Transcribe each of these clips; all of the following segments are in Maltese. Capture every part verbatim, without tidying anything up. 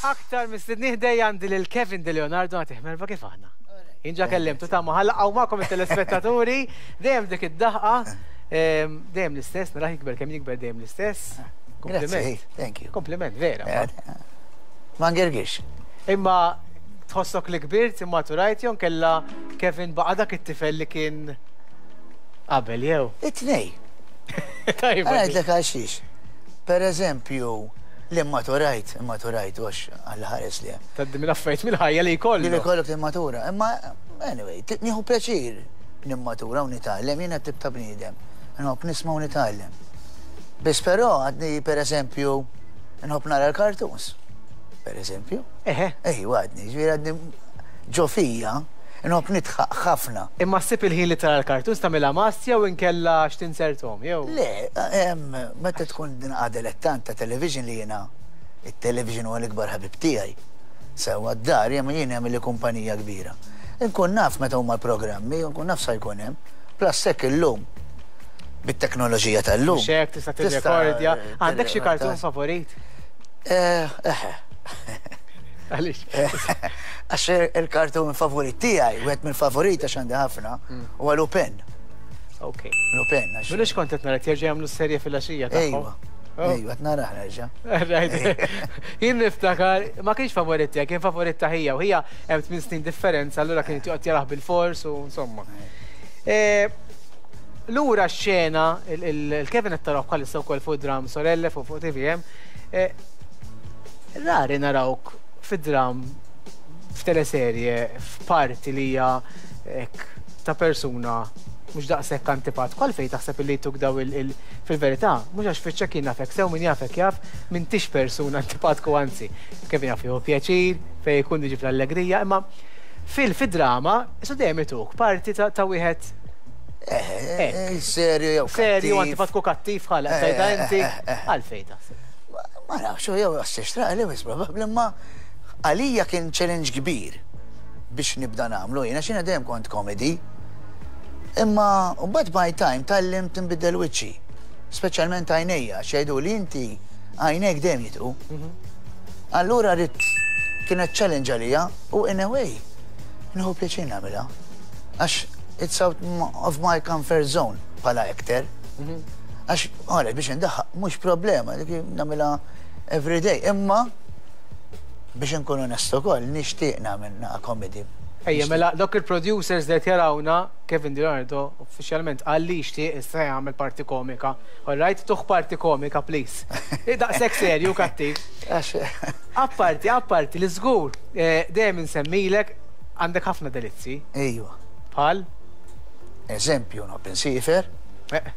Aktar mistedni ħdejja għandi lil Kevin De Leonardo. Nagħtih merħba. Kif aħna? Jien ġa kellimtu ta' maħalla magħkom it-telespettaturi, dejjem dik id-daħqa, em, dejjem l-istess, naraħ jikber kemm jikber, dejjem l-istess. Grazzi, thank you. Kompliment, vera. Ma ngergix. Imma tħossok li kbirt, imma turajt jon kella Kevin baqa dak it-tifel li kien qabel jew? It-tnejn. Tajba. Ħa ngħidlek għal xiex. Per eżempju, li maturajt, maturajt, għax għalla ħares li. Tgħaddi minn affarijiet mill-ħajja li jkollu. Li jkollok timmatura. Imma, anyway, t- nieħu pjaċir nimmatura u nitgħallem, jiena tip ta' bniedem. Nħobb nisma' u nitgħallem. Biss però għadni, per eżempju, nħobb nara l-cartoons. Per eżempju. Eħe. Ej, għadni, ġifieri għadni ġo fija, nħobb nidħaq ħafna. Imma ssib il-ħin li tara l-cartoons, tagħmilha mastja u inkella x'tinsertom, jew? Le, em, meta tkun din dilettant ta' television li jiena, il-television huwa l-ikbar ħabib tiegħi. Sewa d-dar jemma jien jagħmel li kumpanija kbira. Inkun naf meta huma l-programmi, nkun naf sa jkun hemm. Plus hekk illum bit-teknoloġija tal-lum. Mhux hekk, tista' tirrekordja. Għandek xi cartoon favorit? Eh, eh. Għaliex? Għax il-cartoon favorit tiegħi, wieħed mill-favorit, għax għandi ħafna, huwa Lupin. Ok. Lupin. għax- M'ilux kont qed nara jerġa' jagħmlu serje fil-għaxija tagħhom. Ejwa. Oh. Ejwa, qed narah nerġa'. Right. Jien niftakar, ma kienx favorit tiegħek, kien favorit ta' ħija u ħija hemm tmien snin differenza, allura kien joqgħod jarah bil-fors u insomma. Eh, Lura x-xena, il-Kevin qed taraw bħalissa wkoll fuq dram Sorelle fuq fuq T V M. Eh, Rari narawk fid-dram, f'teleserje, f'parti li hija hekk ta' persuna mhux daqshekk antipat. Kwal fejn taħseb li tuk daw il- il- fil-verità, mhux għax fiċċa kien nafek sew, min jafek jaf, m'intix persuna antipatku, anzi. Kevin jaf jieħu pjaċir, fejn jkun diġi fl-allegrija, imma fil fid-drama, isu dejjem ituk parti ta' ta' wieħed Eh, eh, serju jew serju, kattiv. Antipatku, kattiv ħalaq, Eh, tajda eh, inti, eh, eh. għalfejn taħseb? Ma nafx, jew għas li wis probabbli, imma għalija kien challenge kbir biex nibda nagħmlu jiena x'jiena dejjem kont comedy. Imma mbagħad by time tgħallimt tinbidel wiċċi. Speċjalment għajnejja, xejdu li inti għajnejk dejjem jitqu. Allura rrid kienet challenge għalija u in a way nieħu pjaċir nagħmilha. Għax it's out of my comfort zone bħala actor. Għax, għalet, biex ndaħħaq, mhux problema, dik nagħmilha every day. Imma, biex nkun onest ukoll, nixtieq nagħmel naqa comedy. Ejja, mela, dok il-producers li qed jarawna, Kevin Di Leonardo uffiċjalment qal li jixtieq issa jagħmel parti komika. All right, tuh parti komika, please. Daqshekk serju kattiv. Għax, Apparti, apparti, li żgur, eh, dejjem insemmilek, għandek ħafna delizzi. Ejwa, Bħal? Eżempju, nħobb insiefer, Eh,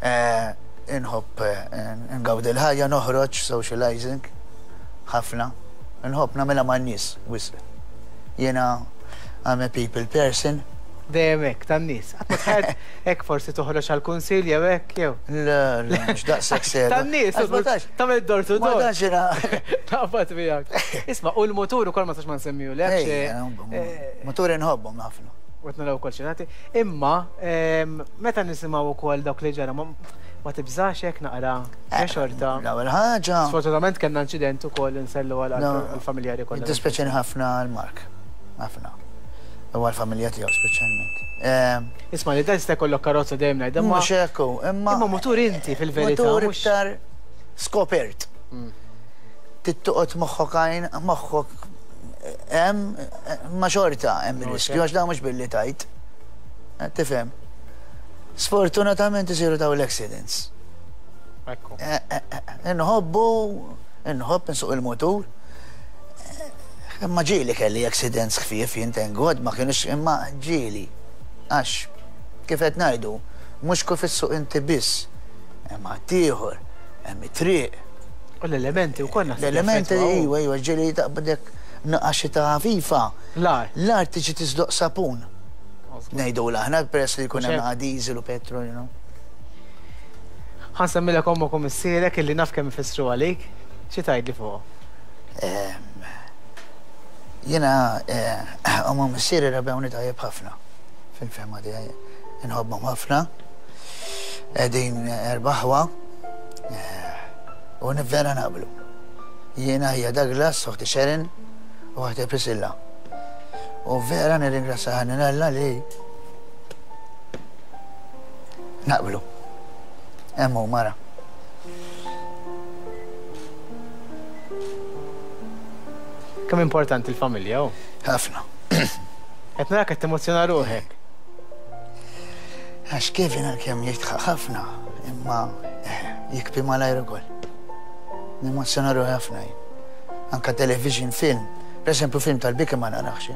eh, nħobb eh, ngawdi l-ħajja, noħroġ, socializing, ħafna. Nħobb nagħmilha man-nies, wisq. Jiena I'm a people person. Dejjem hekk tan-nies. Qatt ma tħed hekk forsi toħroġ għall-kunsil jew hekk jew? Le, le, mhux daqshekk serju. Tan-nies, Għax ma tantx- tagħmel door to Ma door. tantx jiena. Taqbad miegħek. Isma', u l-motur ukoll ma sax ma nsemmiju lek. Ej, motori nħobbhom ħafna. U naraw ukoll xi. Imma em, meta nisimgħu wkoll dawk li ġara, ma ma tibżax hekk naqra eh, xorta? L-ewwel ħaġa. Sfortunatament kellna inċident ukoll, insellu għal No, għall-familjari kollha. Jiddispjaċini ħafna għal Mark. Ħafna. U għal-familja tiegħu speċjalment. Ehm, Isma' li dan jista' jkollok karozza, dejjem ngħid, imma Mhux hekk hu, imma imma motur inti fil-verità. Motur mhux- iktar skopert. Mm. Tittuqgħod moħħok għajn, moħħok hemm, ma xorta hemm Mhux riskju hekk. għax dawn mhux billi tajt. Eh, Tifhem. Sfortunatament isiru daw l-accidents. Ekku. Eh, eh, eh, Nħobbu, nħobb nsuq il-motur. Eh, Imma ġieli kelli accidents ħfief jien, thank God, ma kienux, imma ġieli. Għax, kif qed ngħidu, mhux kif issuq inti biss, imma ieħor, hemm it-triq. U l-elementi wkoll naħseb L-elementi, jaffettwaw. iwa, iwa, ġieli taqbadek naqa xita ħafifa. L-ar. L-art tiġi tiżloq sapun. Ngħidu l-aħna peress li jkun hemm Mhux hekk? naqa diesel u petrol, you know. Ħa nsemmilek ommok u missierek illi naf kemm ifissru għalik. Xi tgħidli fuq? Ehm, Jiena, eh, ommi u missieri rabbewni tajjeb ħafna. Fil-fehma tiegħi. Inħobbhom ħafna. Qegħdin erba' aħwa. Eh, U vera naqblu. Jiena hija Douglas, oħti Sharon u oħti Priscilla. U vera nirringrazzja ħanin Alla li naqblu. Hemm hu mara. Kemm importanti l-familja hu? Ħafna. Qed narak qed temozzjona ruħek. Għax Kevin għalkemm jitħaq ħafna, imma jikbi malajr ukoll. Nemozzjona ruħi ħafna jien. Anka television film, per eżempju film tal-biki ma narax.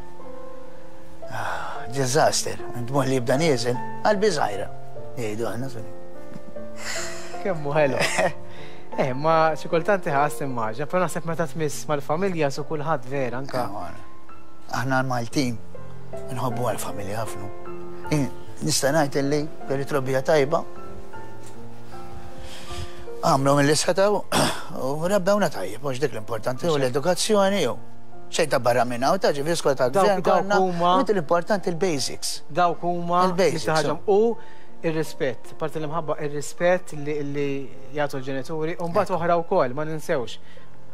Ah, disaster, dmuħ li jibda nieżel, qalbi żgħira. Jgħidu aħna suni. Kemm hu ħelu. Eh, ma xi kultant iħass immaġna, però naħseb meta tmiss mal-familja su kulħadd vera anka. Aħna l-Maltin nħobbu għall-familja ħafna. Nista' ngħid illi kelli trobbija tajba. Għamlu mill-li setgħu u rabbewna tajjeb, mhux dik l-importanti u l-edukazzjoni u xejn ta' barra minn hawn ta' ġifieri skola ta' gvern Dawk huma Meta l-importanti l-basics. Dawk huma Il-basics, ħaġa u ir-rispett, parti l-imħabba ir-rispett li li jagħtu l-ġenituri u mbagħad oħra wkoll ma ninsewx.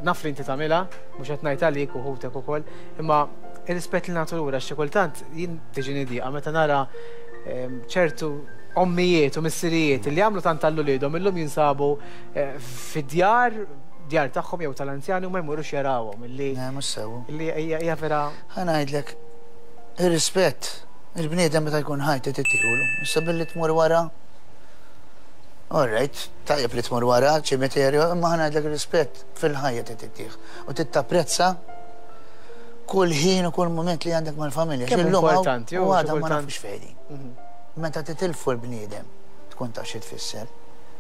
Naf li inti tagħmilha, mhux qed ngħid għalik u ħutek ukoll, imma ir-rispett li nagħtu lura xi kultant jien tiġini diqa meta nara ehm, ċertu ommijiet u missirijiet li għamlu tant għal uliedhom illum jinsabu eh, fid-djar djar tagħhom jew tal-anzjani u ma jmorrux jarawhom illi Ne, mhux sew. illi hija hija vera Ħa ngħidlek, ir-rispett, il-bniedem meta jkun ħaj tittiħulu. Issa billi tmur wara. All right, tajjeb li tmur wara, ċimiterju, imma ħa ngħidlek ir-rispett fil-ħajja tittieħ. U tittapprezza kull ħin u kull moment li għandek mal-familja. Kemm Illum hawn importanti, U u għadha ma xi kultant- nafux fejn. Meta titilfu l-bniedem, tkun taf xi tfisser.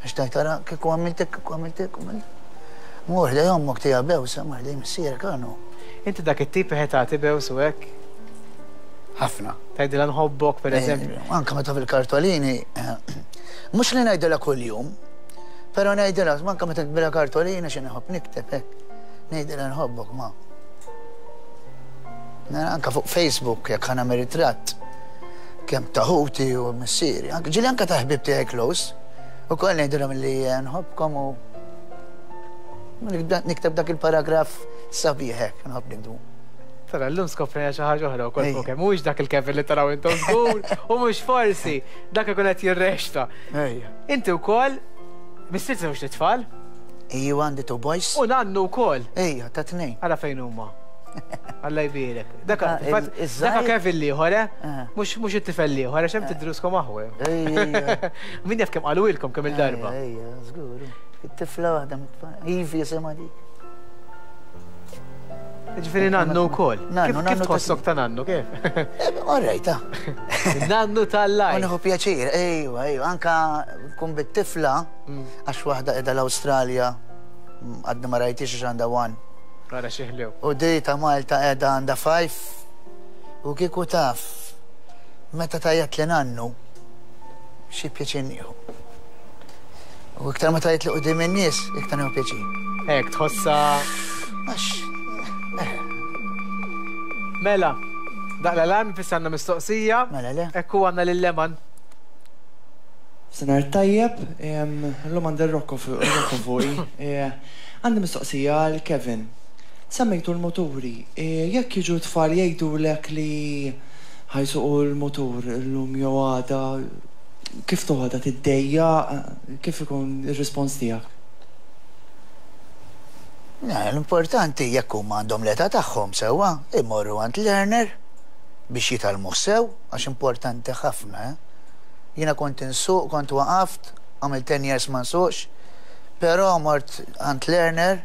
Għax tajt tara kieku għamiltek, kieku għamiltek, għamiltek. Mur ħdej ommok tija bewsa, mur ħdej missierek għanu. Inti dak it-tip qed tagħti bews u hekk Ħafna. tgħidilha nħobbok pereżempju. Eh, Anka meta fil-kartolini, eh, mhux li ngħidilha kuljum, però ngħidilha, anka meta bila kartolina xi nħobb nikteb hekk. Ngħidilha nħobbok ma. Na, Anka fuq Facebook jekk ħa nagħmel ritratt kemm ta' ħuti u missieri, anka ġieli anka ta' ħbib tiegħi close, ukoll ngħidilhom li nħobbkom u nikteb dak il-paragraf sabiħ hekk, nħobb niktbu. Tara, llum skoprejna xi ħaġa oħra wkoll Ejja. fuq hemm. Mhuwiex dak il-Kevin li taraw intom żgur u mhux forsi dak ikun qed jirrexta. Ejja. Inti wkoll missier żewġ tfal Ejju għandi two boys. u nannu wkoll. Ejja, ta' tnejn. Ara fejn huma. Alla jbierek. Daka, Ah, il- fil-fatt, iż-żgħir? daka Kevin l-ieħor, eh? Ah. Mhux mhux it-tifel l-ieħor, għax hemm tidruskom aħwe. Ejja, Min jaf kemm qalulkom kemm il-darba. Ejja, żgur. It-tifla waħda mit-tfal. Ivi jisimha dik. Ġifieri nannu wkoll. Nannu, Kif- Kif nannu ta' tħossok ta' nannu, kif? All right, ah. Nannu tal-lajk. U nieħu pjaċir, ejwa, ejwa, anka kun bit-tifla, għax waħda qiegħda l-Awstralja, għadni ma rajtix għax għandha one. Ara xi ħlew. U di ta' Malta qiegħda għandha five, u kieku taf, meta tgħajjat li nannu, xi pjaċir nieħu. U iktar ma tgħajjat li quddiem in-nies, iktar nieħu pjaċir. Hekk tħossa Għax, Mela, daqq l-alarm fissanna mistoqsija. Mela le. Ekku għandna lil-Leman. Senar tajjeb, em, l-lum għandi Rocco fu- Rocco fuqi. Eh, Għandi mistoqsija għal Kevin. Semmejtu l-moturi, eh, jekk jiġu tfal jgħidulek li ħa jsuqu l-motur l-lum jew għada, kif toħodha tiddejja, kif ikun ir-rispons tiegħek? Le, L-importanti jekk huma għandhom l-età tagħhom sewwa, imorru għand learner biex jitgħallmu sew, għax importanti ħafna, eh? Jiena kont insuq, kont waqaft, għamilt ten years ma nsuqx, però mort għand learner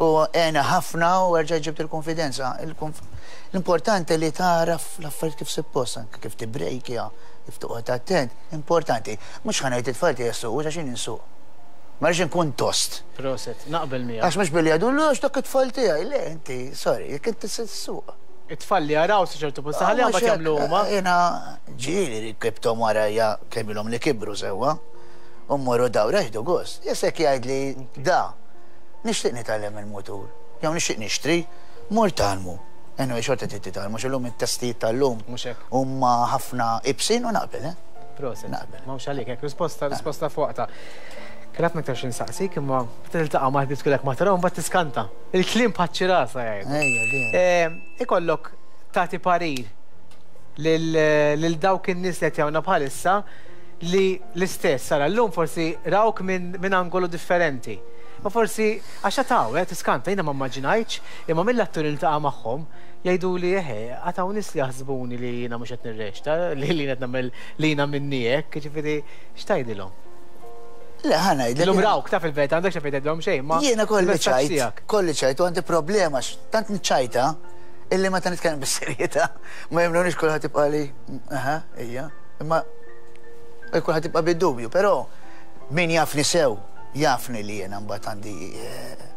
u għena ħafna u erġa' ġibt il-konfidenza. Il-konf- L-importanti li taraf l-affarijiet kif suppost, anke kif tibrejkja, kif toqgħod attent, importanti. Mhux ħa ngħid it-tfal tiegħi jsuqu għax jien insuq. Ma rridx inkun tost. Prosit, naqbel miegħek. Għax mhux billi għadu l dak it-tfal tiegħi, le inti, sorry, jekk inti s-suq. It-tfal li jaraw sa ċertu punt saħalli Mhux għambat hekk, jagħmlu huma. Jiena ġieli rkibthom warajja kemm ilhom li kibru sewwa. U mmorru dawra jieħdu gost. Jesek jgħid li da, nixtieq nitgħallem il-mutur. Jew nixtieq nixtri, mur tgħallmu. Anyway, xorta trid titgħallmu, x'illum it-testijiet tal-lum Mhux hekk. huma ħafna ibsin u naqbel, eh? Prosit. Naqbel. M'hawnx għalik, hekk risposta, risposta fuqta. Kelli ħafna iktar x'insaqsik, imma tiltaqa' ma' ħbieb tkellek ma tarahom mbagħad tiskanta. Il-kliem bħaċ-ċirasa jgħidu. Ejja, vera. Eh, Ikollok tagħti parir lil lil dawk in-nies li qed jarawna bħalissa li l-istess sara llum forsi rawk minn min angolu differenti. Ma forsi għax taw, eh, tiskanta, jiena ma immaġinajtx, imma mill-atturi li ltaqa' magħhom jgħidu li eħe, għad hawn nies li jaħsbuni li jiena mhux qed nirreċta, li li qed nagħmel li jiena minni hekk, jiġifieri x'tgħidilhom? Le, ħa ngħidlek. Illum rawk ta' fil-verità għandek xi tgħidilhom xejn, ma Jiena kolli il-messaġġ ċajt, tiegħek. Kolli ċajt u għandi problema, għax tant niċċajta illi meta nitkellem bis-serjetà ma jemmnunix. Kulħadd jibqa' li, aha, ejja, imma kulħadd jibqa' bid-dubju, però min jafni sew, jafni li jiena mbagħad għandi eh,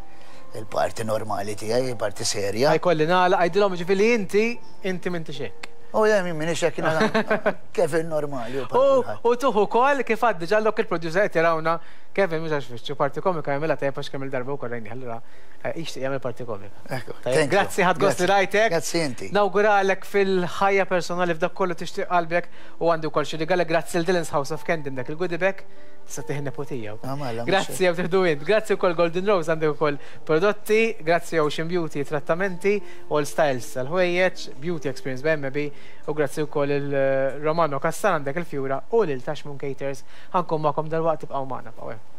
il-parti normali tiegħi, il-parti serja. Ħa jkolli nagħlaq, għidilhom ġifieri inti, inti m'intix hekk. U jien min m'iniex hekk, jiena Kevin normali. U bħal U kulħadd. U tuħu kol kif għaddi ġallok il-producer qed jarawna. Kevin mhux għax fiċċu parti komika jagħmilha tajjeb għax kemm il-darba wkoll rajni allura eh, jixtieq jagħmel parti komika. Ekku, Tajjeb, thank you. grazzi, ħadt gost li Grazzi. rajtek. Grazzi inti. Nawguralek fil-ħajja personali f'dak kollu tixtieq qalbek u għandi wkoll xi rigali grazzi l Dylan's House of Candy, dak il-goodie bag tista' tieħ nepotija wkoll. Ah, mela, mhux Grazzi jew tieħdu int. Grazzi wkoll Golden Rose, għandek ukoll prodotti, grazzi Ocean Beauty trattamenti, All Styles tal-ħwejjeġ, Beauty Experience B M B u grazzi wkoll il-Romano Cassan għandek il-Fjura u lil Tashmoon Caters. Ħa nkun magħkom dalwaqt, tibqgħu magħna bqgħu hemm.